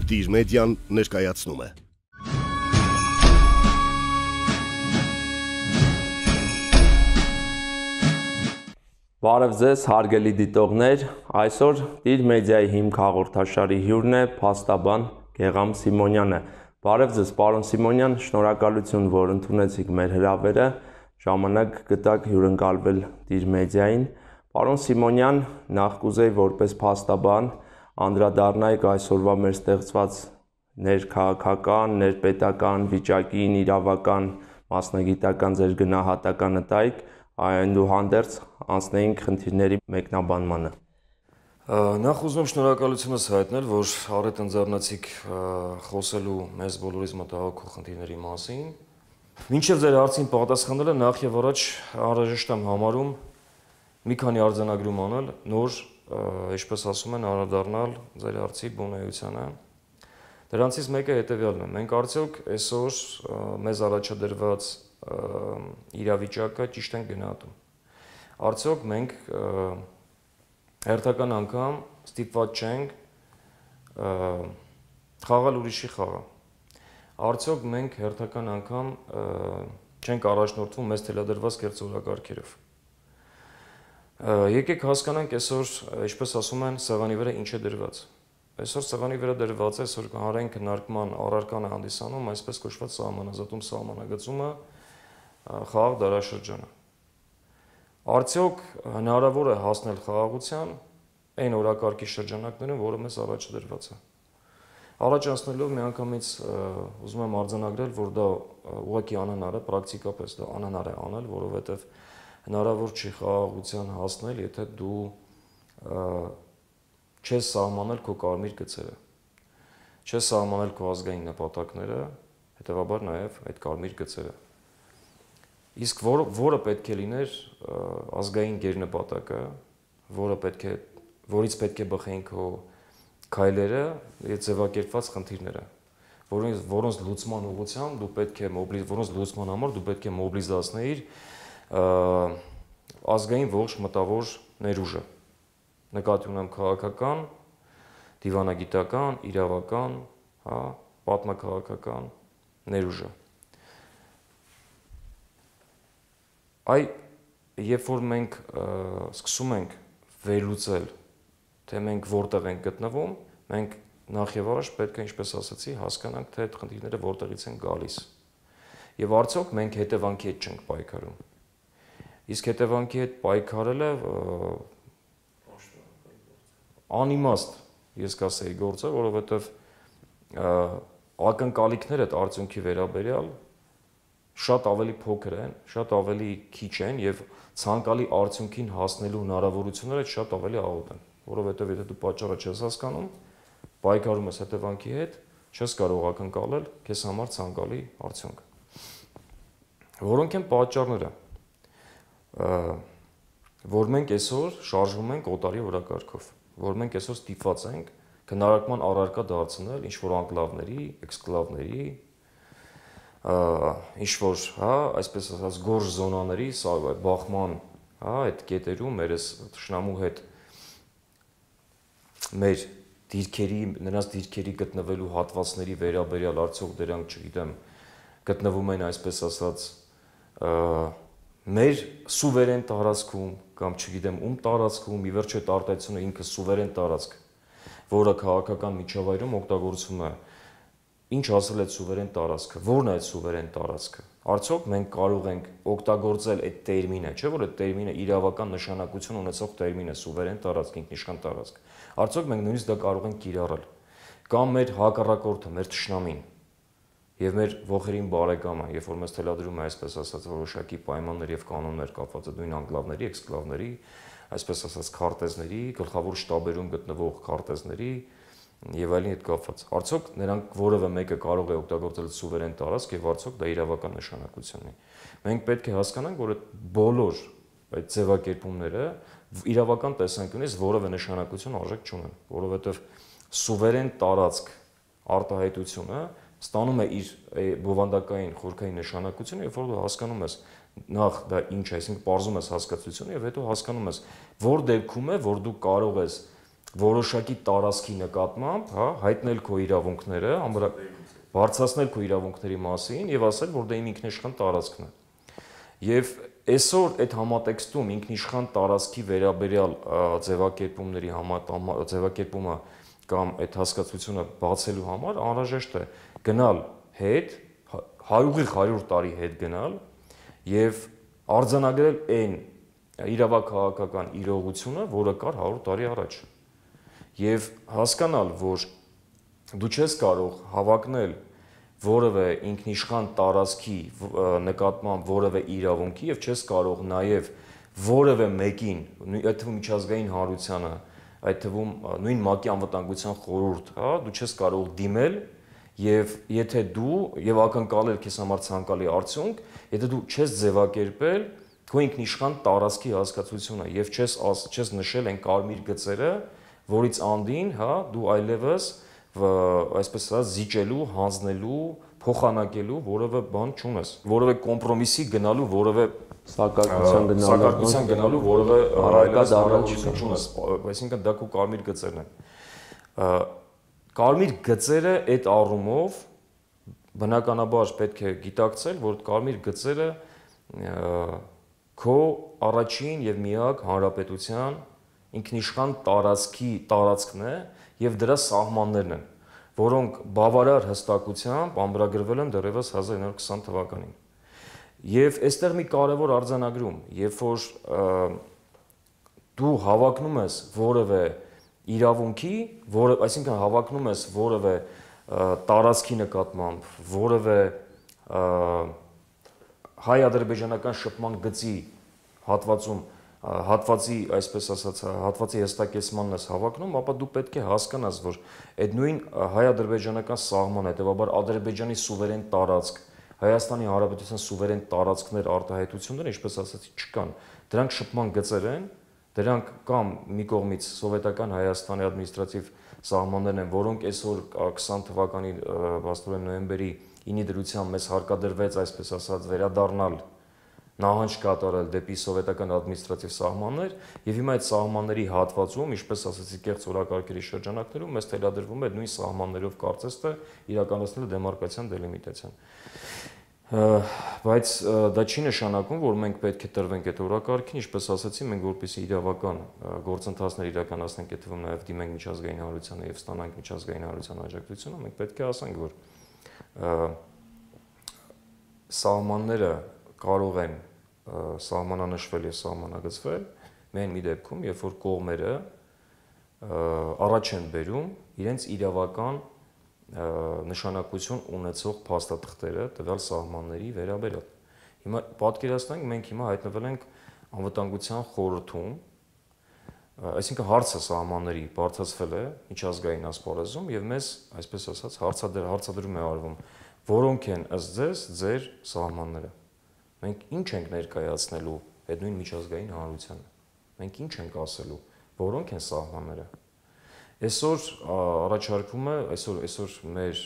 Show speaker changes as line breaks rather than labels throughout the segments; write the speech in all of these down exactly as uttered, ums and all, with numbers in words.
Դիր մեդիան ներկայացնում է։
Բարև ձեզ, հարգելի դիտողներ, այսօր Դիր մեդիայի հիմք հաղորդաշարի հյուրն է փաստաբան Գեղամ Սիմոնյանը։ Բարև ձեզ, պարոն Սիմոնյան, շնորհակալություն, որ ընդունեցիք մեր հրավերը, ժամանակ գտաք հյուրընկալվել Դիր մեդիային։ Պարոն Սիմոնյան, նախ կուզեի որպես փաստաբան անդրադառնայիք այսօրվա մեր ստեղծված ներքաղաքական, ներպետական վիճակին, իրավական, մասնագիտական ձեր գնահատականը տայիք, այնուհանդերձ անցնեինք խնդիրների մեկնաբանմանը։
Նախ ուզում եմ շնորհակալությունս հայտնել, որ առիթ ընձեռնեցիք խոսելու մեզ բոլորիս մտահոգող խնդիրների մասին։ Մինչև ձեր հարցին պատասխանելը նախ եւ առաջ անհրաժեշտ եմ համարում մի քանի արձանագրում անել, նոր, ինչպես ասում են, անդրադառնալ ձեր հարցի բունեությանը։ Դրանցից մեկը հետեւյալն է. մենք արդյոք այսօր մեզ առաջադրված իրավիճակը ճիշտ ենք գնահատում։ Արդյոք մենք հերթական անգամ ստիպված չենք խաղալ ուրիշի խաղը։ Արդյոք մենք հերթական անգամ չենք առաջնորդվում մեզ թելադրված կեղծ օրակարգերով։ Եկեք հասկանանք այսօր, ինչպես ասում են, սեղանի վրա ինչ է դրված։ Այսօր սեղանի վրա դրված է, այսօր հանրային քննարկման առարկան է հանդիսանում այսպես կոչված սահմանազատում սահմանագծումը խաղաղ դարաշրջանը։ Արդյոք հնարավոր է հասնել խաղաղության այն օրակարգի շրջանակներում, որը մեզ առաջ դրված է։ Առաջ անցնելով միանգամից ուզում եմ արձանագրել, որ դա ուղղակի անհնար է, պրակտիկապես դա անհնար է անել, որովհետև հնարավոր չի խաղաղության հասնել, եթե դու չես սահմանել քո կարմիր գծերը, չես սահմանել քո ազգային նպատակները, հետևաբար նաև այդ կարմիր գծերը։ Իսկ որ, որը պետք է լիներ ազգային գերնպատակը, որը պետք է, որից պետք է բխեին քո քայլերը, ձևակերպված խնդիրները, որոնց, որոնց լուծման ուղղությամբ դու պետք է մոբիլ, որոնց լուծման համար դու պետք է մոբիլիզացնեիր ազգային ողջ մտավոր ներուժը։ Նկատի ունեմ քաղաքական, դիվանագիտական, իրավական, հա, պատմաքաղաքական ներուժը։ Այ երբ որ մենք սկսում ենք վերլուծել, թե մենք որտեղ ենք գտնվում, մենք նախ եւ առաջ պետք է, ինչպես ասացի, հասկանանք, թե այդ խնդիրները որտեղից են գալիս։ Եվ արդյոք մենք հետևանքի հետ չենք պայքարում։ Իսկ հետևանքի հետ պայքարելը անիմաստ, ես կասեի, գործ է, որովհետև ակնկալիքները այդ արդյունքի վերաբերյալ շատ ավելի փոքր են, շատ ավելի քիչ են եւ ցանկալի արդյունքին հասնելու հնարավորությունները շատ ավելի աղոտ են, որովհետեւ եթե դու պատճառը չես հասկանում, պայքարում ես հետևանքի հետ, չես կարող ակնկալել քեզ համար ցանկալի արդյունք։ Որոնք են պատճառները, որ մենք այսօր շարժվում ենք օտարի օրակարգով, որ մենք այսօր ստիպված ենք քննարկման առարկա դարձնել ինչ-որ անկլավների, էքսկլավների, ինչ-որ, հա, այսպես ասած, գորժ զոնաների, բախման, հա, այդ կետերում մեր այս թշնամու հետ մեր դիրքերի, նրանց դիրքերի գտնվելու հատվածների վերաբերյալ արդյոք դրանք, չգիտեմ, գտնվում են այսպես ասած մեր սուվերեն տարածքում կամ չգիտեմ ում տարածքում, ի վերջո այդ արտահայտությունը ինքը սուվերեն տարածք, որը քաղաքական միջավայրում օգտագործվում է, ինչ ասել այդ սուվերեն տարածքը, որն է այդ սուվերեն տարածքը։ Արդյոք մենք կարող ենք օգտագործել այդ տերմինը, չէ՞ որ այդ տերմինը իրավական նշանակություն ունեցող տերմին է սուվերեն տարածք, ինքնիշխան տարածք։ Արդյոք մենք նույնիսկ դա կարող ենք կիրառել։ Կամ մեր հակառակորդը, մեր թշնամին եւ մեր ողերին բարեկամը, երբ որ մեզ թելադրում է այսպես ասած որոշակի պայմաններ եւ կանոններ կապված նույն անկլավների, էքսկլավների, այսպես ասած քարտեզների, գլխավոր շտաբերում գտնվող քարտեզների եւ այլն հետ կապված։ Արդյոք նրանք որևէ մեկը կարող է օգտագործել սուվերեն տարածք եւ արդյոք դա իրավական նշանակություն ունի։ Մենք պետք է հասկանանք, որ այդ բոլոր այդ ձևակերպումները իրավական տեսանկյունից որևէ նշանակություն արժեք չունեն, որովհետեւ սուվերեն տարածք արտահայտությունը ստանում է իր բովանդակային խորքային նշանակությունը, երբ որ դու հասկանում ես նախ դա ինչ է, այսինքն պարզում ես հասկացությունը եւ հետո հասկանում ես, որ դեպքում է, որ դու կարող ես որոշակի տարածքի նկատմամբ, հա, հայտնել քո իրավունքները, բարձրացնել քո իրավունքների մասին եւ ասել, որ դա իմ ինքնիշխան տարածքն է։ Եվ այսօր այդ համատեքստում ինքնիշխան տարածքի վերաբերյալ ձևակերպումների ձևակերպումը կամ այդ հասկացությունը բացելու համար անհրաժեշտ է գնալ հետ, ուղիղ հարյուր տարի հետ գնալ եւ արձանագրել այն իրավաքաղաքական իրողությունը, որը կար հարյուր տարի առաջ։ Եվ հասկանալ, որ դու չես կարող հավակնել որևէ ինքնիշխան տարածքի նկատմամբ որևէ իրավունքի եւ չես կարող նաեւ որևէ մեկին, այդ թվում միջազգային հանրությանը, այդ թվում նույն ՄԱԿ-ի անվտանգության խորհուրդ, հա, դու չես կարող դիմել եւ եթե դու եւ ակնկալել քեզ համար ցանկալի արդյունք, եթե դու չես ձևակերպել քո ինքնիշխան տարածքի հասկացությունը եւ չես չես նշել այն կարմիր գծերը, որից անդին, հա, դու այլևս այսպես ասած զիջելու, հանձնելու, փոխանակելու որևէ բան չունես, որևէ կոմպրոմիսի գնալու, որևէ
սակարկության գնալու,
սակարկության գնալու որևէ այլևս հնարավորություն չունես, այսինքն դա քո կարմիր գծերն են։ Կարմիր գծերը այդ առումով բնականաբար պետք է գիտակցել, որ կարմիր գծերը քո առաջին եւ միակ հանրապետության ինքնիշխան տարածքի տարածքն է եւ դրա սահմաններն են, որոնք բավարար հստակությամբ ամրագրվել են դեռևս հազար իննսուն քսան թվականին։ Եվ այստեղ մի կարևոր արձանագրում, երբ որ դու հավակնում ես որևէ իրավունքի, որը, այսինքն հավակնում ես որևէ տարածքի նկատմամբ, որևէ հայ-ադրբեջանական շփման գծի հատվածում հատվածի, այսպես ասած, հատվածի հստակեցմանն ես հավակնում, ապա դու պետք է հասկանաս, որ այդ նույն հայ-ադրբեջանական սահմանը, հետևաբար Ադրբեջանի սուվերեն տարածք, Հայաստանի Հանրապետության սուվերեն տարածքներ արտահայտությունները, ինչպես ասացի, չկան։ Դրանք շփման գծեր են, դրանք կամ մի կողմից սովետական Հայաստանի ադմինիստրատիվ սահմաններն են, որոնք այսօր քսան թվականի աստորեն նոյեմբերի ինի դրությամբ մեզ հարկադրվեց, այսպես ասած, վերադառնալ նահանջ կատարել դեպի սովետական ադմինիստրատիվ սահմաններ եւ հիմա այդ սահմանների հատվածում, ինչպես ասացի, կեղծ օրակարգերի շրջանակներում մեզ թելադրվում է նույն սահմաններով կարծես թե իրականացնել դեմարկացիան դելիմիտացիան։ Բայց դա չի նշանակում, որ մենք պետք է տրվենք այդ օրակարգին, ինչպես ասացի, մենք որպեսզի իրավական գործընթացներ իրականացնենք, այդ թվում նաեւ դիմենք միջազգային հանրությանը եւ ստանանք միջազգային հանրության աջակցությունը, մենք պետք է ասենք, որ սահմանները կարող են սահմանանշվել եւ սահմանագծվել միայն մի դեպքում, երբ որ կողմերը առաջ են բերում իրենց իրավական նշանակություն ունեցող փաստաթղթերը տվյալ սահմանների վերաբերյալ։ Հիմա պատկերացնենք, մենք հիմա հայտնվել ենք անվտանգության խորհրդում, այսինքն հարցը սահմանների բարձրացվել է միջազգային ասպարեզում եւ մեզ, այսպես ասած, հարցադրում է արվում, որոնք են ըստ ձեզ ձեր սահմանները։ Մենք ինչ ենք ներկայացնելու այդ նույն միջազգային հանրությանը։ Մենք ինչ ենք ասելու, որոնք են սահմանները։ Այսօր առաջարկվում է, այսօր այսօր մեր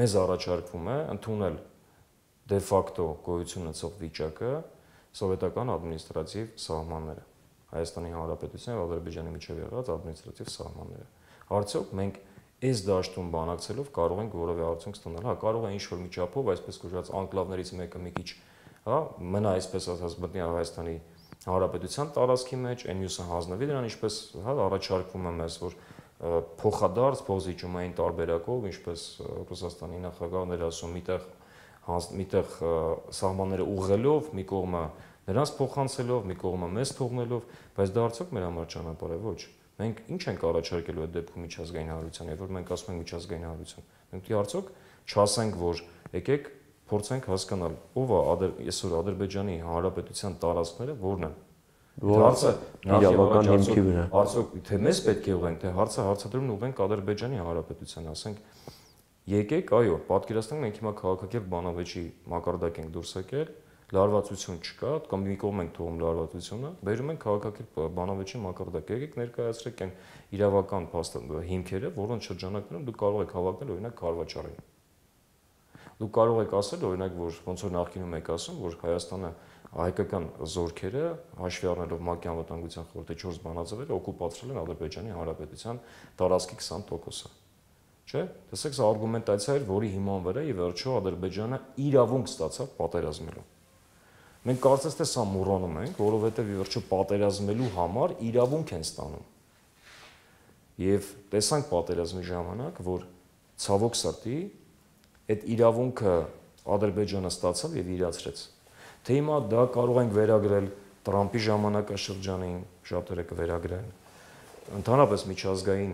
մեզ առաջարկվում է ընդունել դե ֆակտո գոյություն ունեցող վիճակը սովետական ադմինիստրատիվ սահմանները, Հայաստանի Հանրապետության եւ Ադրբեջանի միջև եղած ադմինիստրատիվ սահմանները։ Արդյոք մենք այս դաշտում բանակցելով կարող ենք որևէ արդյունք ստանալ։ Հա, կարող է ինչ-որ մի չափով, այսպես կոչված անկլավներից մեկը մի քիչ, հա, մնա այսպես ասած մտնի Հայաստանի Հանրապետության տարածքի մեջ, այն մյուսը հանձնվի դրան, ինչպես, հա, առաջարկվում է մեզ, որ փոխադարձ փոխզիջումային տարբերակով, ինչպես Ռուսաստանի նախագահն էր ասում, միտեղ միտեղ սահմանները ուղղելով, մի կողմը նրանց փոխանցելով, մի կողմը մեզ թողնելով, բայց դա արդյոք մեր համար ճանապարհ է, ոչ։ Մենք ինչ ենք առաջարկելու այդ դեպքում միջազգային հանրության, երբ որ մենք ասում ենք միջազգային հանրություն։ Մենք դի արդյոք չասենք, որ եկեք փորձենք հասկանալ, ով է այսօր Ադրբեջանի Հանրապետության տարածքները որն են։ Հարցը
իրավական հիմքի վրա։
Արդյոք թե մեզ պետք է ուղենք, թե հարցը հարցադրումն ուղենք Ադրբեջանի Հանրապետության, ասենք եկեք, այո, պատկերացնենք մենք հիմա քաղաքակիրթ բանավեճի մակարդակ ենք դուրս եկել, լարվածություն չկա, կամ մի կողմ ենք թողում լարվածությունը, բերում ենք քաղաքակիրթ բանավեճի մակարդակ, եկեք ներկայացրեք այն իրավական հիմքերը, որոնց շրջանակներում դուք կարող եք հավակնել օրինակ Քարվաճարին։ Դուք կարող եք ասել օրինակ, որ ոնց որ նախկինում եք ասում, որ Հայաստանը հայկական զորքերը հաշվի առնելով ՄԱԿ-ի անվտանգության խորհրդի չորս բանաձևերը օկուպացրել են Ադրբեջանի Հանրապետության տարածքի քսան տոկոսը։ Չէ՞։ Տեսեք, սա արգումենտացիա էր, որի հիման վրա ի վերջո Ադրբեջանը իրավունք ստացավ պատերազմելու։ Մենք կարծես թե սա մոռանում ենք, որովհետև ի վերջո պատերազմելու համար իրավունք են ստանում։ Եվ տեսանք պատերազմի ժամանակ, որ ցավոք սրտի այդ իրավունքը Ադրբեջանը ստացավ եւ իրացրեց։ Թե հիմա դա կարող ենք վերագրել Տրամպի ժամանակաշրջանին, շատերը կվերագրեն, ընդհանրապես միջազգային,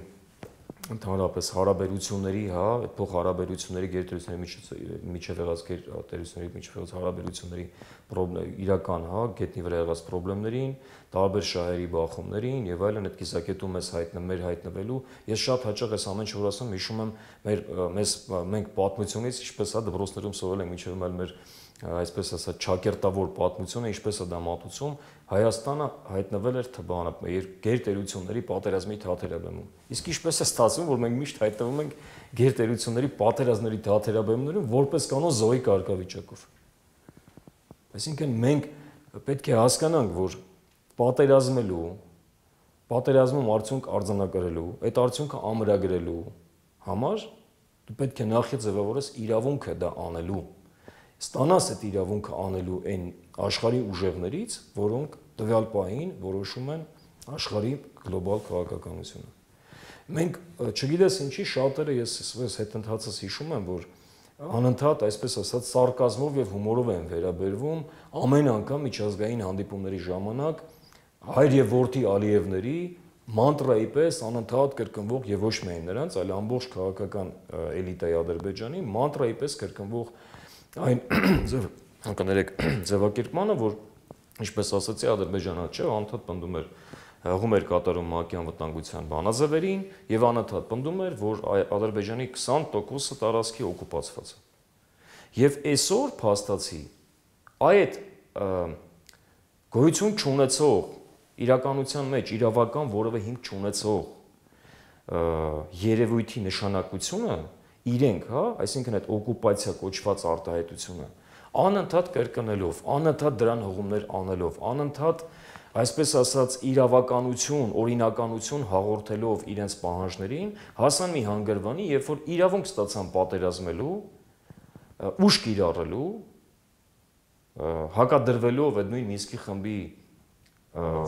ընդհանրապես հարաբերությունների, հա, այդ փոխհարաբերությունների գերտերությունների միջև եղած գերտերությունների միջև եղած հարաբերությունների իրական, հա, գետնի վրա եղած խնդիրներին, տարբեր շահերի բախումներին եւ այլն այդ կիսակետում ես հայտնվում, մեր հայտնվելու։ Ես շատ հաճախ այս ամեն ինչ որ ասում, հիշում եմ մեր մեզ մենք պատմությունից, ինչպես հա դպրոցներում սովորել ենք, միջև այլ մեր այսպես ասած ճակերտավոր պատմությունը, ինչպես է դա մատուցում, Հայաստանը հայտնվել էր թբանը գերտերությունների պատերազմի թաթերաբեմում։ Իսկ ինչպես է ստացվում, որ մենք միշտ հայտնվում ենք գերտերությունների պատերազմների թաթերաբեմներում որպես կանոն զոհի կարգավիճակով։ Այսինքն մենք պետք է հասկանանք, որ պատերազմելու, պատերազմում արդյունք արձանագրելու, այդ արդյունքը ամրագրելու համար դու պետք է նախ ձևավորես իրավունքը դա անելու։ Ստանաս այդ իրավունքը անելու այն աշխարհի ուժերներից, որոնք տվյալ պահին որոշում են աշխարհի գլոբալ քաղաքականությունը։ Մենք չգիտես ինչի շատերը ես ես հետընթացս հիշում եմ, որ անընդհատ այսպես ասած սարկազմով եւ հումորով են վերաբերվում ամեն անգամ միջազգային հանդիպումների ժամանակ հայր եւ որդի Ալիևների մանտրայի պես անընդհատ կրկնվող եւ ոչ միայն նրանց, այլ ամբողջ քաղաքական էլիտայի Ադրբեջանի մանտրայի պես կրկնվող այն ձև կներեք ձևակերպմանը, որ ինչպես ասացի Ադրբեջանը չէ, անընդհատ պնդում էր հղում էր կատարում ՄԱԿ-ի անվտանգության բանաձևերին եւ անընդհատ պնդում էր, որ Ադրբեջանի քսան տոկոսը տարածքի օկուպացված է։ Եվ այսօր փաստացի այդ գոյություն չունեցող իրականության մեջ իրավական որևէ հիմք չունեցող երևույթի նշանակությունը իրենք, հա, այսինքն այդ օկուպացիա կոչված արտահայտությունը անընդհատ կրկնելով, անընդհատ դրան հղումներ անելով, անընդհատ այսպես ասած իրավականություն, օրինականություն հաղորդելով իրենց պահանջներին, հասան մի հանգրվանի, երբ որ իրավունք ստացան պատերազմելու, ուժ կիրառելու, հակադրվելով այդ նույն Մինսկի խմբի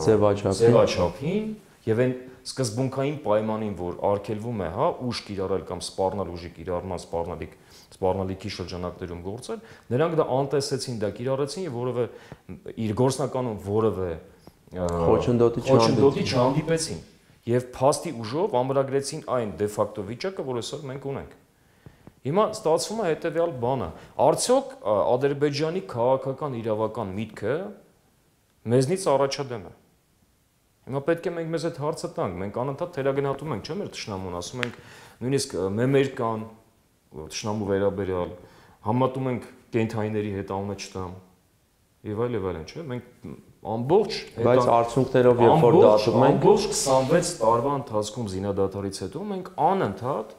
ձևաչափին եւ այն սկզբունքային պայմանին, որ արգելվում է, հա, ուժ կիրառել կամ սպառնալ ուժի կիրառման սպառնալիք, սպառնալիքի շրջանակներում գործել, նրանք դա անտեսեցին, դա կիրառեցին եւ որևէ իր գործնականում որևէ խոչընդոտի չհանդիպեցին եւ փաստի ուժով ամրագրեցին այն դե ֆակտո վիճակը, որ այսօր մենք ունենք։ Հիմա ստացվում է հետեւյալ բանը. արդյոք Ադրբեջանի քաղաքական իրավական միտքը մեզնից առաջադեմ է։ Հիմա պետք է մենք մեզ այդ հարցը տանք, մենք անընդհատ թերագնահատում ենք, չէ՞ մեր թշնամուն, ասում ենք նույնիսկ մեմեր կան, թշնամու վերաբերյալ, համատում ենք կենթայիների հետ անունը չտամ եւ այլ եւ այլն, չէ՞։ Մենք ամբողջ
բայց արդյունքներով երբ որ դատում ենք,
ամբողջ քսանվեց տարվա ընթացքում զինադատարից հետո մենք անընդհատ,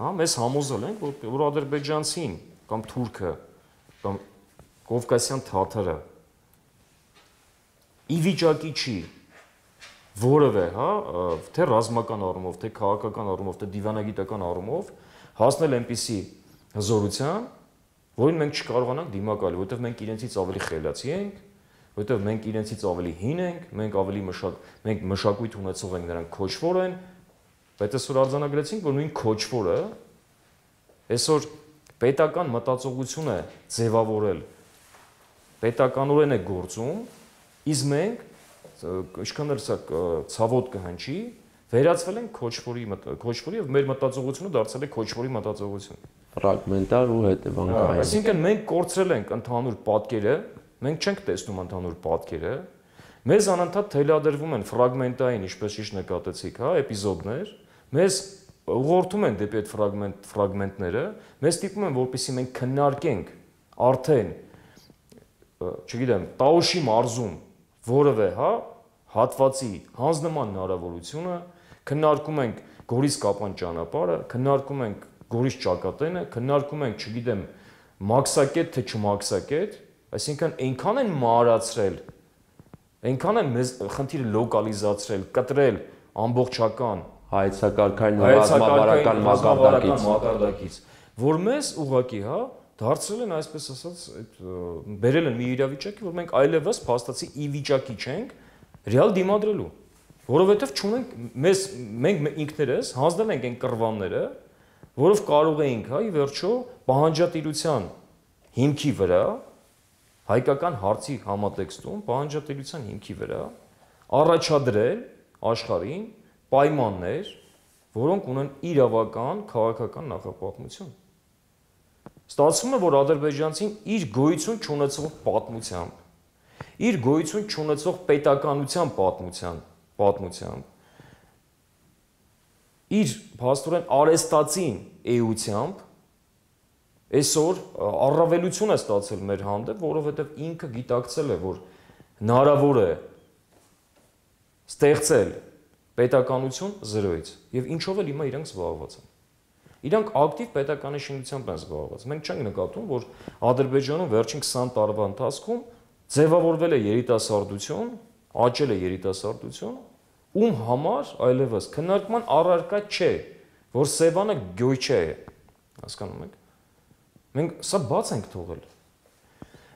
հա, մեզ համոզել ենք, որ, որ ադրբեջանցին կամ թուրքը կամ կովկասյան թաթարը ի վիճակի չի որևէ, հա, թե ռազմական առումով, թե քաղաքական առումով, թե դիվանագիտական առումով հասնել այնպիսի հզորության, որին մենք չկարողանանք դիմակայել, որովհետև մենք իրենցից ավելի խելացի ենք, որովհետև մենք իրենցից ավելի հին ենք, մենք ավելի մշակ, մենք մշակույթ ունեցող ենք, նրանք քոչվոր են, բայց այսօր արձանագրեցինք, որ նույն քոչվորը այսօր պետական մտածողություն է ձևավորել, պետականորեն է գործում, իսկ մենք ինչքան էլ սա ցավոտ կհնչի, վերածվել են քոչվորի քոչվորի եւ մեր մտածողությունը դարձել է քոչվորի մտածողություն։
Ֆրագմենտար ու հետևանքային։
Այսինքն մենք կորցրել ենք ընդհանուր պատկերը, մենք չենք տեսնում ընդհանուր պատկերը, մեզ անընդհատ թելադրվում են ֆրագմենտային, ինչպես ճիշտ նկատեցիք, հա, էպիզոդներ, մեզ ուղղորդում են դեպի այդ ֆրագմենտ ֆրագմենտները, մեզ ստիպում են, որպեսզի մենք քննարկենք արդեն, չգիտեմ, Տաուշի մարզում որևէ, հա, հատվածի հանձնման հնարավորությունը, քննարկում ենք Գորիս Կապան ճանապարհը, քննարկում ենք Գորիս ճակատենը, քննարկում ենք, չգիտեմ, մաքսակետ թե չմաքսակետ, Այսինքն այնքան են մարացրել, այնքան են մեզ խնդիրը լոկալիզացրել, կտրել ամբողջական
հայեցակարգային ու ռազմավարական մակարդակից,
մակարդակից, որ մեզ ուղղակի, հա, դարձրել են այսպես ասած, այդ բերել են մի իրավիճակի, որ մենք այլևս փաստացի ի վիճակի չենք ռեալ դիմադրելու, որովհետև չունենք մեզ մենք ինքներս հանձնել ենք այն կռվանները, որով կարող էինք, հա, ի վերջո պահանջատիրության հիմքի վրա հայկական հարցի համատեքստում պահանջատիրության հիմքի վրա առաջադրել աշխարհին պայմաններ, որոնք ունեն իրավական, քաղաքական նախապատմություն։ Ստացվում է, որ ադրբեջանցին իր գոյություն չունեցող պատմությամբ, իր գոյություն չունեցող պետականության պատմության, պատմությամբ, իր փաստորեն արեստացին էությամբ այսօր առավելություն է ստացել մեր հանդեպ, որովհետև ինքը գիտակցել է, որ հնարավոր է ստեղծել պետականություն զրոյից եւ ինչով էլ հիմա իրենք զբաղված են։ Իրանք ակտիվ պետականի շինությամբ են զբաղված։ Մենք չենք նկատում, որ Ադրբեջանում վերջին քսան տարվա ընթացքում ձևավորվել է երիտասարդություն, աճել է երիտասարդություն, ում համար այլևս քննարկման առարկա չէ, որ Սևանը գոյչե է, հասկանում եք։ Մենք սա բաց ենք թողել։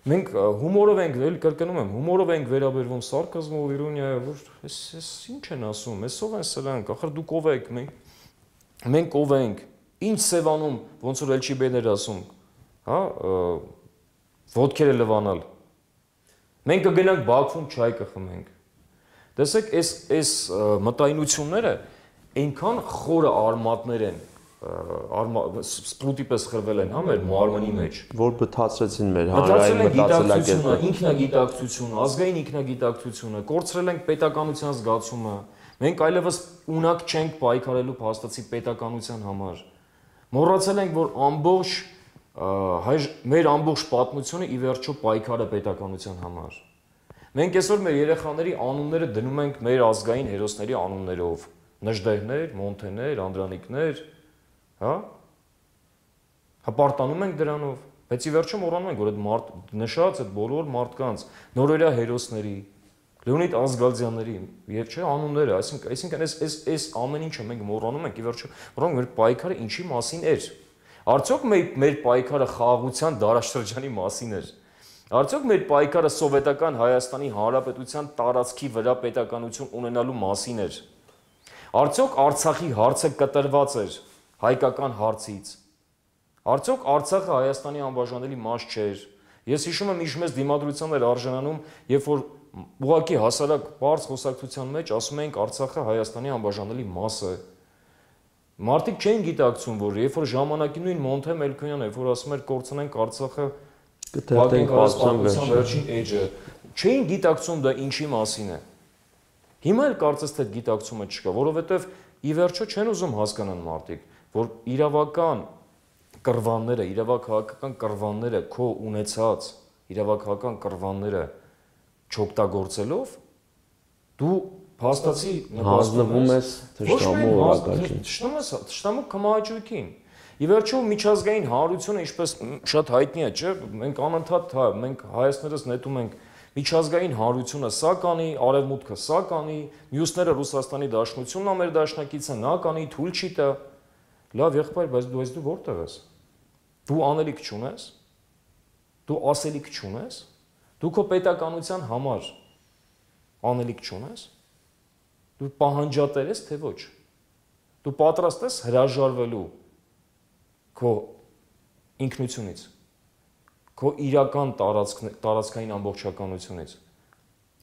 Մենք հումորով ենք, էլ կրկնում եմ, հումորով ենք վերաբերվում սարկազմով, իրոնիայով, որ էս էս ինչ են ասում, էսով են սրանք, ախր դուք ով եք, մենք մենք ով ենք, ինչ Սևանում, ոնց որ Էլչիբեն էր ասում, հա, ոտքերը լվանալ։ Մենք կգնանք Բաքվում չայ կխմենք։ Տեսեք, այս այս մտայնությունները այնքան խորը արմատներ են, սպրուտի պես խրվել են, հա, մեր մարմնի մեջ,
որ բթացրեցին մեր հանրային մտածելակերպը,
ինքնագիտակցությունը, ազգային ինքնագիտակցությունը, կորցրել ենք պետականության զգացումը, մենք այլևս ունակ չենք պայքարելու փաստացի պետականության համար, մոռացել ենք, որ ամբողջ մեր ամբողջ պատմությունը ի վերջո պայքար է պետականության համար։ Մենք այսօր մեր երեխաների անունները դնում ենք մեր ազգային հերոսների անուններով, Նժդեհներ, Մոնթեներ, Անդրանիկներ, հա? Հպարտանում ենք դրանով, բայց ի վերջո մոռանում ենք, որ այդ մարդ նշած այդ բոլոր մարդկանց նորերյա հերոսների, Լեոնիդ Ազգալձյանների, եւ չէ անունները, այսինքն, այսինքն այս այս այս ամեն ինչը մենք մոռանում ենք, ի վերջո մոռանում մեր պայքարը ինչի մասին էր։ Արդյոք մեր մեր պայքարը խաղաղության դարաշրջանի մասին էր։ Արդյոք մեր պայքարը սովետական Հայաստանի Հանրապետության տարածքի վրա պետականություն ունենալու մասին էր։ Արդյոք Արցախի հարցը կտրված էր հայկական հարցից։ Արդյոք Արցախը Հայաստանի անբաժանելի մաս չէր։ Ես հիշում եմ ինչ մեծ դիմադրության էր արժանանում, երբ որ ուղղակի հասարակ բարձ խոսակցության մեջ ասում ենք Արցախը Հայաստանի անբաժանելի մաս է։ Մարդիկ չէին գիտակցում, որ երբ որ ժամանակի նույն Մոնթե Մելքոնյանը, երբ որ ասում էր կորցնենք Արցախը
կթերթենք
պատմության վերջին էջը, չէին գիտակցում դա ինչի մասին է։ Հիմա էլ կարծես թե գիտակցումը չկա, որովհետև ի վերջո չեն ուզում հասկանան մարդիկ, որ իրավական կռվանները, իրավաքաղաքական կռվանները քո ունեցած իրավաքաղաքական կռվանները չօգտագործելով դու փաստացի
հանձնվում ես թշնամու օրակարգին։
Թշնամու կմահաճույքին։ Ի վերջո միջազգային հանրությունը, ինչպես շատ հայտնի է, չէ՞, մենք անընդհատ, հա, մենք հայացներս նետում ենք միջազգային հանրությունը սա կանի, արևմուտքը սա կանի, մյուսները Ռուսաստանի Դաշնությունն է մեր դաշնակիցը, նա կանի, թույլ չի տա։ Լավ եղբայր, բայց դու ես դու որտեղ ես։ Դու անելիք չունես։ Դու ասելիք չունես։ Դու քո պետականության համար անելիք չունես։ Դու պահանջատեր ես, թե ոչ։ Դու պատրաստ ես հրաժարվելու քո ինքնությունից, քո իրական տարածքային ամբողջականությունից։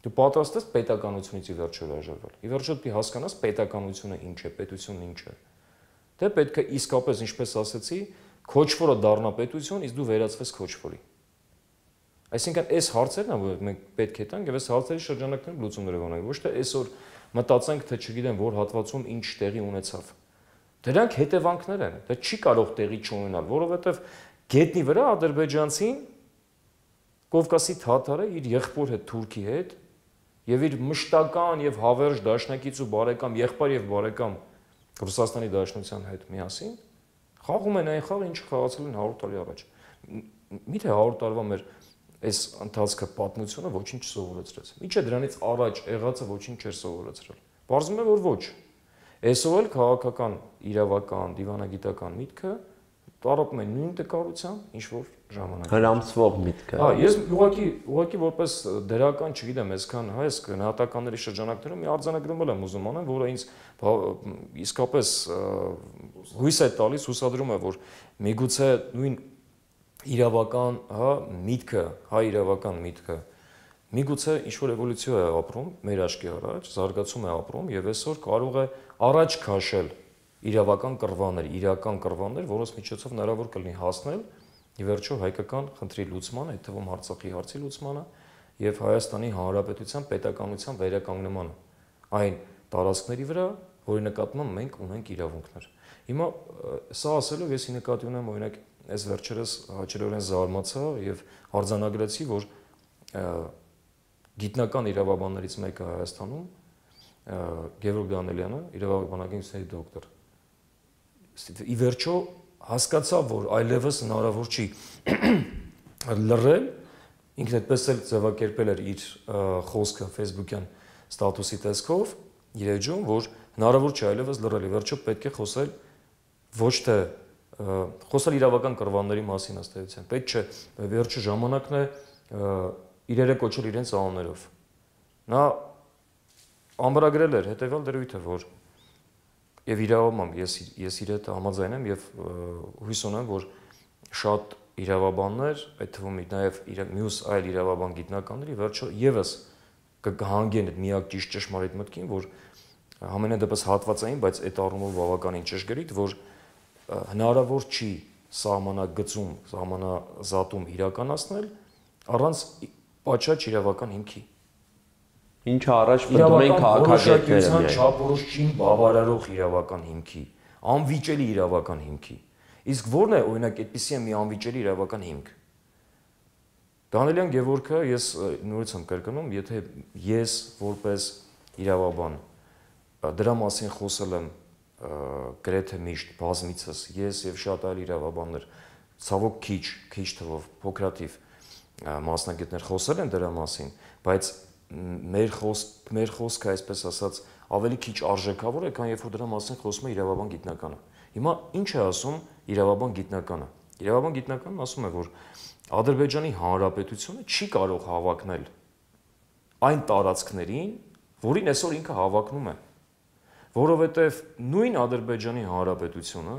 Դու պատրաստ ես պետականությունից ի վերջո հրաժարվել։ Ի վերջո դու հասկանաս պետականությունը ինչ է, պետությունն ինչ է։ Դե պետք է իսկապես, ինչպես ասեցի, քոչվորը դառնա պետություն, իսկ դու վերածվես քոչվորի։ Այսինքն այս հարցերն են, որ մենք պետք է տանք, եւ այս հարցերի շրջանակներում լուծումներ ունենք, ոչ թե այսօր մտածենք, թե չգիտեմ, որ հատվածում ինչ տեղի ունեցավ։ Դրանք հետևանքներ են, դա չի կարող տեղի չունենալ, որովհետև գետնի վրա ադրբեջանցին Կովկասի թաթարը իր եղբոր հետ Թուրքի հետ եւ իր մշտական եւ հավերժ դաշնակից ու բարեկամ եղբայր եւ բարեկամ Ռուսաստանի Դաշնության հետ միասին խաղում են այն խաղը, ինչը խաղացել են հարյուր տարի առաջ։ Միթե հարյուր տարվա մեր այս ընթացքը պատմությունը ոչինչ չսովորեցրեց։ Ինչը դրանից առաջ եղածը ոչինչ չէր սովորեցրել։ Պարզվում է, որ ոչ։ Այսօր էլ քաղաքական, իրավական, դիվանագիտական միտքը տարապում է նույն տկարությամբ, ինչ որ ժամանակ։
Հրամցվող միտքը։
Հա, ես ուղղակի ուղղակի որպես դերական, չգիտեմ, այսքան հա, այս գնահատականների շրջանակներում մի արձանագրում եմ ուզում անեմ, որը ինձ իսկապես հույս է տալիս, հուսադրում է, որ միգուցե նույն իրավական, հա, միտքը, հա, իրավական միտքը միգուցե ինչ-որ էվոլյուցիա է ապրում մեր աչքի առաջ, զարգացում է ապրում եւ այսօր կարող է առաջ քաշել իրավական կռվաներ, իրական կռվաներ, որոնց միջոցով հնարավոր կլինի հասնել ի վերջո հայկական խնդրի լուծմանը, այդ թվում Արցախի հարցի լուծմանը եւ Հայաստանի Հանրապետության պետականության վերականգնմանը այն տարածքների վրա, որի նկատմամբ մենք ունենք իրավունքներ։ Հիմա սա ասելով ես ի նկատի ունեմ օրինակ այս վերջերս հաճելորեն զարմացա եւ արձանագրեցի, որ գիտնական իրավաբաններից մեկը Հայաստանում Գևորգ Դանելյանը, իրավաբանագիտությունների դոկտոր, ի վերջո հասկացավ, որ այլևս հնարավոր չի լռել, ինքն այդպես էլ ձևակերպել էր իր խոսքը Facebook-յան ստատուսի տեսքով, իր էջում, որ հնարավոր չէ այլևս լռել, ի վերջո պետք է խոսել ոչ թե խոսել իրավական կռվանների մասին ըստ էության, պետք չէ, վերջը ժամանակն է իրերը կոչել իրենց անուններով։ Նա ամրագրել էր հետևյալ դրույթը, որ եւ իրավաբան ես ես իր հետ համաձայն եմ եւ հույս ունեմ, որ շատ իրավաբաններ, այդ թվում նաեւ մյուս այլ իրավաբան գիտնականների վերջո եւս կհանգեն այդ միակ ճիշտ ճշմարիտ մտքին, որ համենայնդեպս հատվածային, բայց այդ առումով բավականին ճշգրիտ, որ հնարավոր չի սահմանագծում, սահմանազատում իրականացնել առանց պատշաճ իրավական հիմքի։
Ինչը առաջ մտնում են քաղաքագետները,
չափորոշչին բավարարող իրավական հիմքի, անվիճելի իրավական հիմքի։ Իսկ ո՞րն է օրինակ այդպիսի մի անվիճելի իրավական հիմք։ Դանելյան Գևորգը ես նորից եմ կրկնում, եթե ես որպես իրավաբան դրա մասին խոսել եմ գրեթե միշտ բազմիցս, ես եւ շատ այլ իրավաբաններ, ցավոք քիչ, քիչ թվով, փոքրաթիվ մասնագետներ խոսել են դրա մասին, բայց մեր խոսք, մեր խոսքը, այսպես ասած, ավելի քիչ արժեքավոր է, քան երբ որ դրա մասին խոսում է իրավաբան գիտնականը։ Հիմա ինչ է ասում իրավաբան գիտնականը։ Իրավաբան գիտնականն ասում է, որ Ադրբեջանի Հանրապետությունը չի կարող հավակնել այն տարածքներին, որին այսօր ինքը հավակնում է, որովհետև նույն Ադրբեջանի Հանրապետությունը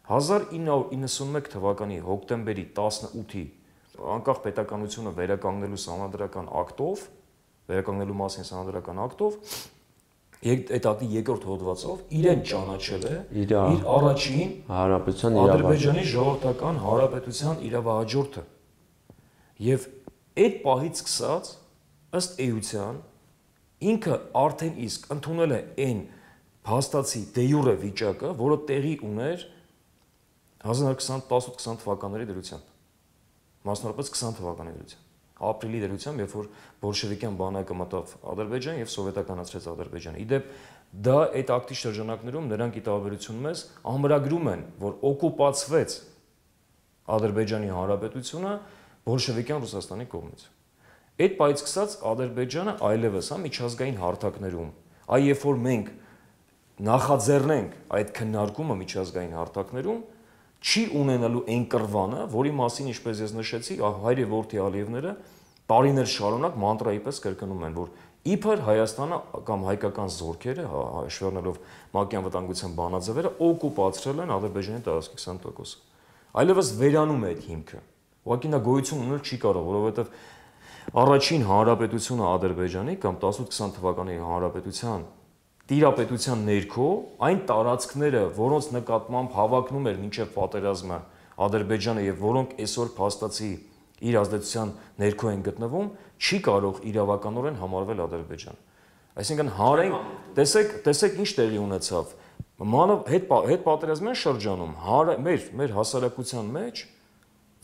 հազար ինը հարյուր իննսունմեկ թվականի հոկտեմբերի տասնութի անկախ պետականությունը վերականգնելու սահմանադրական ակտով, վերականգնելու մասին սահմանադրական ակտով, այդ ակտի երկրորդ հոդվածով իրեն ճանաչել է իր առաջին
Հանրապետության
Ադրբեջանի ժողովրդական հանրապետության իրավահաջորդը։ Եվ այդ պահից սկսած ըստ էության ինքը արդեն իսկ ընդունել է այն փաստացի դե յուրե վիճակը, որը տեղի ուներ հազար ինը հարյուր տասնութ-քսան թվականների դրությամբ, մասնավորապես քսան թվականի դրությամբ, ապրիլի դրությամբ, երբ որ բոլշևիկյան բանակը մտավ Ադրբեջան եւ սովետականացրեց Ադրբեջանը։ Իդեպ դա այդ ակտի շրջանակներում նրանք ի տարբերություն մեզ ամրագրում են, որ օկուպացվեց Ադրբեջանի Հանրապետությունը բոլշևիկյան Ռուսաստանի կողմից։ Այդ պահից սկսած Ադրբեջանը այլևս հա միջազգային հարթակներում, այ երբ որ մենք նախաձեռնենք այդ քննարկումը միջազգային հարթակներում, չի ունենալու այն կռվանը, որի մասին, ինչպես ես նշեցի, հայր եւ որդի Ալիևները տարիներ շարունակ մանտրայի պես կրկնում են, որ իբր Հայաստանը կամ հայկական զորքերը, հաշվառնելով ՄԱԿ-ի անվտանգության բանաձևերը, օկուպացրել են Ադրբեջանի տարածքի քսան տոկոսը։ Այլևս վերանում է այդ հիմքը։ Ուղղակի նա գոյություն ունել չի կարող, որովհետեւ առաջին հանրապետությունը Ադրբեջանի կամ տասնութ-քսան թվականի հանրապետության տիրապետության ներքո այն տարածքները, որոնց նկատմամբ հավակնում էր մինչև պատերազմը Ադրբեջանը եւ որոնք այսօր փաստացի իր ազդեցության ներքո են գտնվում, չի կարող իրավականորեն համարվել Ադրբեջան։ Այսինքն հանրային, տեսեք, տեսեք ինչ տեղի ունեցավ։ Մանավ հետ հետ պատերազմյան շրջանում մեր մեր հասարակության մեջ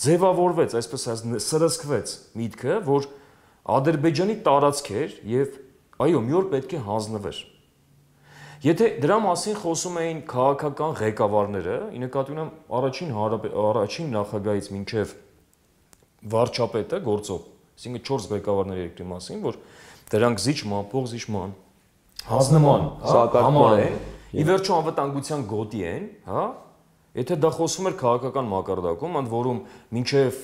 ձևավորվեց, այսպես ասած, սրսկվեց միտքը, որ Ադրբեջանի տարածք էր եւ այո, մի օր պետք է հանձնվեր։ Եթե դրա մասին խոսում էին քաղաքական ղեկավարները, ի նկատի ունեմ առաջին առաջին նախագահից մինչև վարչապետը գործող Այսինքն չորս ղեկավարների երկրի մասին, որ դրանք զիջման, փոխզիջման, հանձնման, համար են, ի վերջո անվտանգության գոտի են, հա։ Եթե դա խոսում էր քաղաքական մակարդակում, ընդ որում մինչև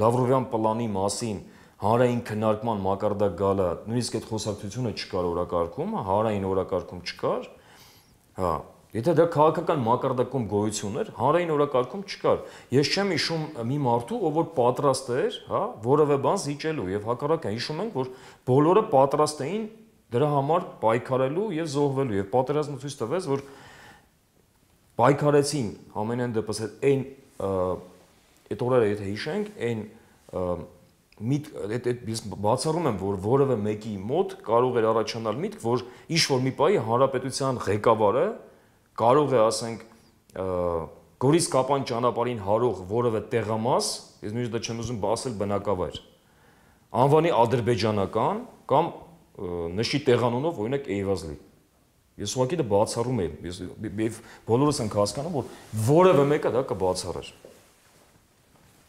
Լավրովյան պլանի մասին հանրային քննարկման մակարդակ գալը, նույնիսկ այդ խոսակցությունը չկար օրակարգում, հանրային օրակարգում չկար, հա։ Եթե դա քաղաքական մակարդակում գոյություն էր, հանրային օրակարգում չկար։ Ես չեմ հիշում մի մարդու, ով որ պատրաստ էր, հա, որևէ բան զիջելու եւ հակառակը հիշում ենք, որ բոլորը պատրաստ էին դրա համար պայքարելու եւ զոհվելու եւ պատերազմը ցույց տվեց, որ պայքարեցին ամենայն դեպս այն այդ օրերը եթե հիշենք, այն միտ այդ բացառում եմ, որ որևէ մեկի մոտ կարող էր առաջանալ միտք, որ ինչ որ մի պահի հանրապետության ղեկավարը կարող է, ասենք, Գորիս Կապան ճանապարհին հարող որևէ տեղամաս, ես նույնիսկ դա չեմ ուզում ասել բնակավայր, անվանի ադրբեջանական կամ նշի տեղանունով օրինակ Էյվազլի։ Ես ուղղակի դա բացառում եմ, ես բոլորս ենք հասկանում, որ որևէ մեկը դա կբացառեր։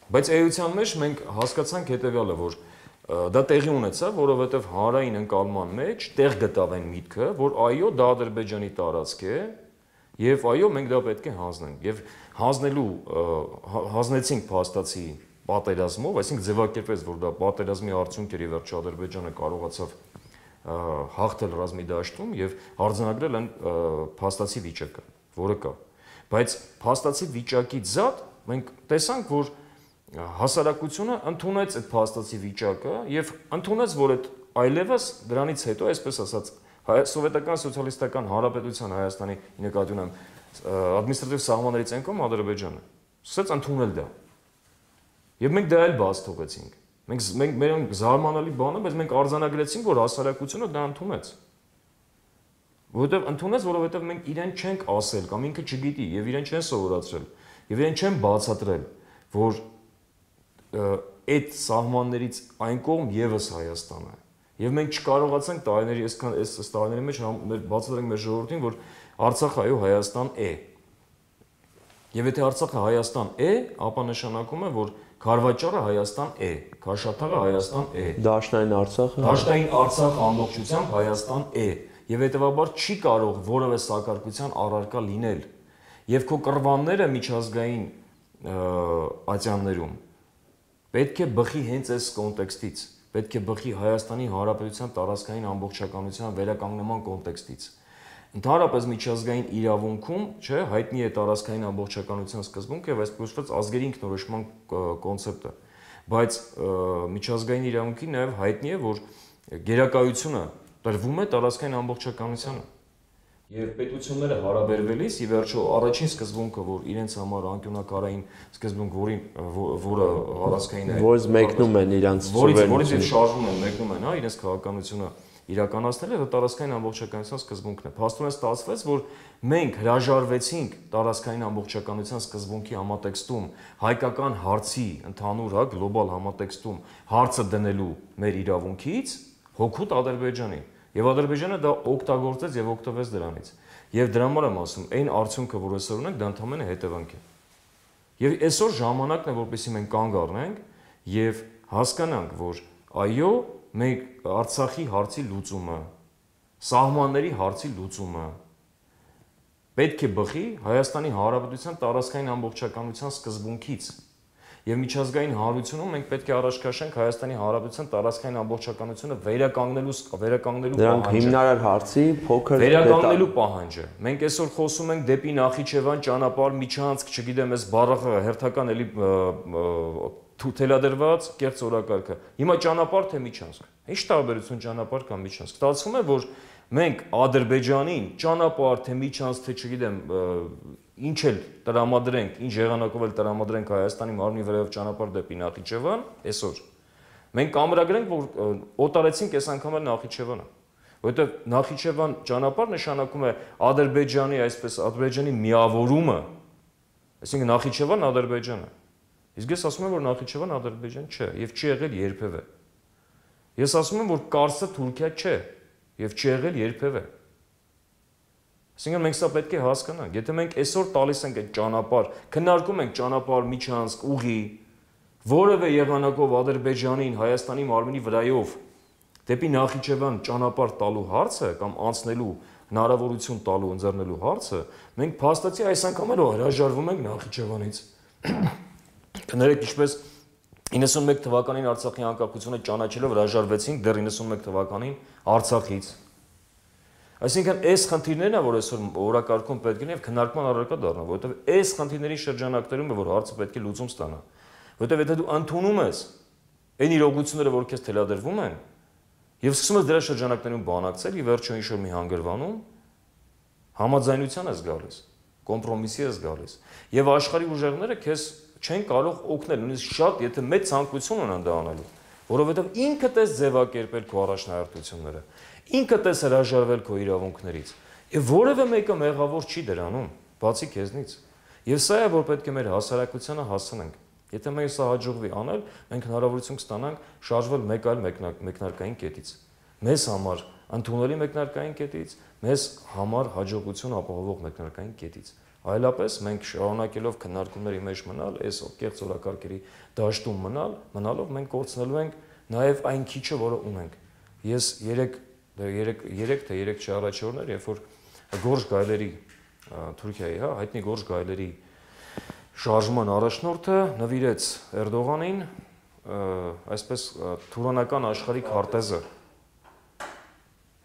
Բայց էության մեջ մենք հասկացանք հետևյալը, որ դա տեղի ունեցավ, որովհետև հանրային ընկալման մեջ տեղ գտավ այն միտքը, որ այո, դա Ադրբեջանի տարածք է, եւ այո, մենք դա պետք է հանձնենք։ Եվ հանձնելու հանձնեցինք փաստացի պատերազմով, այսինքն ձևակերպեց, որ դա պատերազմի արդյունք էր, եւ վերջո Ադրբեջանը կարողացավ հաղթել ռազմի դաշտում եւ արձանագրել այն փաստացի վիճակը, որը կա։ Բայց փաստացի վիճակից զատ մենք տեսանք, որ հասարակությունը ընդունեց այդ փաստացի վիճակը եւ ընդունեց, որ այդ այլևս դրանից հետո, այսպես ասած, Սովետական սոցիալիստական հանրապետության Հայաստանի նկատի ունեմ ադմինիստրատիվ սահմաններից անկում Ադրբեջանը սկսեց ընդունել դա։ Եվ մենք դա էլ բաց թողեցինք։ Մենք մենք մեր զարմանալի բանը, բայց մենք արձանագրեցինք, որ հասարակությունը դա ընդունեց։ Որովհետև ընդունեց, որովհետև մենք իրեն չենք ասել կամ ինքը չգիտի եւ իրեն չեն սովորացրել եւ իրեն չեն բացատրել, որ այդ սահմաններից այն կողմ եւս Հայաստանը է։ Եվ մենք չկարողացանք տարիների այսքան այս տարիների մեջ բացատրենք մեր ժողովրդին, որ Արցախը այո Հայաստան է։ Եվ եթե Արցախը Հայաստան է, ապա նշանակում է, որ Քարվաճարը Հայաստան է, Քաշաթաղը Հայաստան է։
Դաշնային Արցախը
Դաշնային Արցախ ամբողջությամբ Հայաստան է։ Եվ հետեւաբար չի կարող որևէ սակարկության առարկա լինել։ Եվ քո կռվանները միջազգային ատյաններում պետք է բխի հենց այս կոնտեքստից, պետք է բխի Հայաստանի Հանրապետության տարածքային ամբողջականության վերականգնման կոնտեքստից։ Ընդհանրապես միջազգային իրավունքում, չէ, հայտնի է տարածքային ամբողջականության սկզբունքը եւ այսպես կոչված ազգերի ինքնորոշման կոնցեպտը, բայց միջազգային իրավունքի նաեւ հայտնի է, որ գերակայությունը տրվում է տարածքային ամբողջականությանը։ Եվ պետությունները հարաբերվելիս ի վերջո առաջին սկզբունքը, որ իրենց համար անկյունակարային սկզբունք, որին որը առանցքային է,
որից մեկնում են իրանց
սուվերենիտետը, որից եւ շարժում են, մեկնում են, հա, իրենց քաղաքականությունը իրականացնել, դա տարածքային ամբողջականության սկզբունքն է։ Փաստորեն ստացվեց, որ մենք հրաժարվեցինք տարածքային ամբողջականության սկզբունքի համատեքստում հայկական հարցի ընդհանուր, հա, գլոբալ համատեքստում հարցը դնելու մեր իրավունքից հօգուտ Ադրբեջանի։ Եվ Ադրբեջանը դա օգտագործեց եւ օգտվեց դրանից։ Եվ դրա համար եմ ասում, այն արդյունքը, որ այսօր ունենք, դա ընդհանրապես հետևանք է։ Եվ այսօր ժամանակն է, որպեսզի մենք կանգ առնենք եւ հասկանանք, որ այո, մենք Արցախի հարցի լուծումը, սահմանների հարցի լուծումը պետք է բխի Հայաստանի Հանրապետության տարածքային ամբողջականության սկզբունքից։ Եվ միջազգային հանրությունում մենք պետք է առաջ քաշենք Հայաստանի Հանրապետության տարածքային ամբողջականությունը վերականգնելու վերականգնելու
պահանջը։ Դրանք հիմնարար հարցի փոքր
վերականգնելու պահանջը։ Մենք այսօր խոսում ենք դեպի Նախիջևան ճանապարհ, միջանցք, չգիտեմ, այս բառը հերթական էլի թելադրված կեղծ օրակարգը։ Հիմա ճանապարհ թե միջանցք։ Ինչ տարբերություն ճանապարհ կամ միջանցք։ Ստացվում է, որ մենք Ադրբեջանին ճանապարհ թե միջանցք թե չգիտեմ ինչ էլ տրամադրենք, ինչ եղանակով էլ տրամադրենք Հայաստանի մարմնի վերև ճանապարհ դեպի Նախիջևան, այսօր մենք ամրագրենք, որ օտարեցինք այս անգամ էլ Նախիջևանը, որովհետև Նախիջևան ճանապարհ նշանակում է Ադրբեջանի, այսպես Ադրբեջանի միավորումը, այսինքն Նախիջևան Ադրբեջանը։ Իսկ ես ասում եմ, որ Նախիջևան Ադրբեջան չէ եւ չի եղել երբևէ։ Ես ասում եմ, որ Կարսը Թուրքիա չէ եւ չի եղել երբևէ։ Այսինքն մենք սա պետք է հասկանանք, եթե մենք այսօր տալիս ենք այդ ճանապարհ, քննարկում ենք ճանապարհ, միջանցք, ուղի, որևէ եղանակով Ադրբեջանին Հայաստանի մարմնի վրայով դեպի Նախիջևան ճանապարհ տալու հարցը կամ անցնելու հնարավորություն տալու ընձեռնելու հարցը, մենք փաստացի այս անգամ էլ հրաժարվում ենք Նախիջևանից։ Կներեք, ինչպես իննսունմեկ թվականին Արցախի անկախությունը ճանաչելով հրաժարվեցինք դեռ իննսունմեկ թվականին Արցախից։ Այսինքն այս խնդիրներն է, որ այսօր օրակարգում պետք է եւ քննարկման առարկա դառնա, որովհետեւ այս խնդիրների շրջանակներում է, որ հարցը պետք է լուծում ստանա։ Որովհետեւ եթե դու ընդունում ես այն իրողությունները, որ քեզ թելադրվում են, եւ սկսում ես դրա շրջանակներում բանակցել, ի վերջո ինչ-որ մի հանգրվանում, համաձայնության ես գալիս, կոմպրոմիսի ես գալիս, եւ աշխարհի ուժերները քեզ չեն կարող օգնել, նույնիսկ շատ, եթե մեծ ցանկություն ունեն դա անելու, որովհետեւ ինքդ ես ձևակերպել քո առաջնահերթությունները, ինքդ ես հրաժարվել քո իրավունքներից, եւ որևէ մեկը մեղավոր չի դրանում, բացի քեզնից։ Եվ սա է, որ պետք է մեր հասարակությանը հասցնենք։ Եթե մենք սա հաջողվի անել, մենք հնարավորություն կստանանք շարժվել մեկ այլ մեկնարկային կետից։ Մեզ համար ընդունելի մեկնարկային կետից, մեզ համար հաջողություն ապահովող մեկնարկային կետից։ Այլապես մենք շարունակելով քննարկումների մեջ մնալ, այս կեղծ օրակարգերի դաշտում մնալ, մնալով մենք կորցնելու ենք նաև այն քիչը, որը ունենք։ Ես երեք թե երեք չէ առաջ օրներ, երբ որ Գորժ Գայլերի Թուրքիայի, հա, հայտնի Գորժ Գայլերի շարժման առաջնորդը նվիրեց Էրդողանին այսպես թուրանական աշխարհի քարտեզը։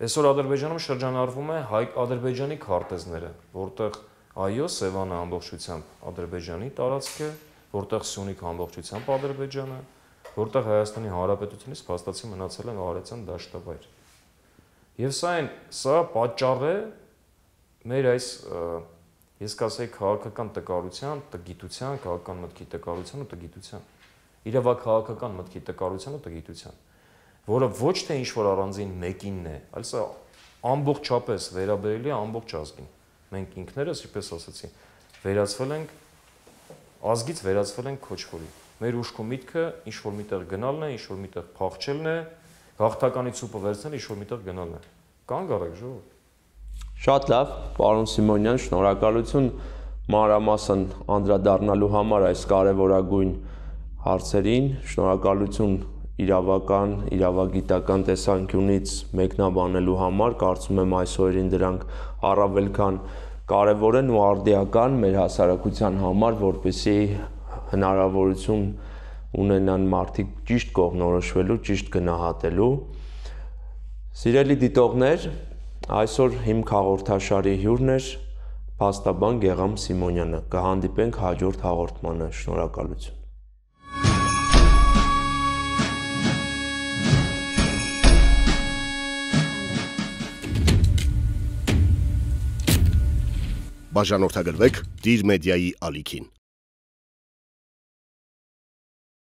Այսօր Ադրբեջանում շրջանառվում է Ադրբեջանի քարտեզները, որտեղ այո, Սևանը ամբողջությամբ Ադրբեջանի տարածք է, որտեղ Սյունիքը ամբողջությամբ Ադրբեջանը, որտեղ Հայաստանի Հանրապետությունից փաստացի մնացել է Արարատյան դաշտավայր։ Եվ սա այն, սա պատճառ է մեր այս ես կասեի քաղաքական տկարության, տգիտության, քաղաքական մտքի տկարության ու տգիտության, իրավաքաղաքական մտքի տկարության ու տգիտության, որը ոչ թե ինչ-որ առանձին մեկինն է, այլ սա ամբողջապես վերաբերելի է ամբողջ ազգին։ Մենք ինքներս, ինչպես ասացի, վերածվել ենք, ազգից վերածվել ենք քոչվորի։ Մեր ուշքու միտքը ինչ-որ միտեղ գնալն է, ինչ-որ միտեղ փախչելն է, գաղթականի ցուպը վերցնել, ինչ-որ միտեղ գնալն է։ Կանգ առեք, ժողովուրդ։
Շատ լավ, պարոն Սիմոնյան, շնորհակալություն մանրամասն անդրադառնալու համար այս կարևորագույն հարցերին, շնորհակալություն իրավական, իրավագիտական տեսանկյունից մեկնաբանելու համար, կարծում եմ այս օրերին դրանք առավել քան կարևոր են ու արդիական մեր հասարակության համար, որպեսզի հնարավորություն ունենան մարդիկ ճիշտ կողմնորոշվելու, ճիշտ գնահատելու։ Սիրելի դիտողներ, այսօր Հիմք հաղորդաշարի հյուրն էր փաստաբան Գեգամ Սիմոնյանը։ Կհանդիպենք հաջորդ հաղորդմանը։ Շնորհակալություն։
Բաժանորդագրվեք Դիր մեդիայի ալիքին։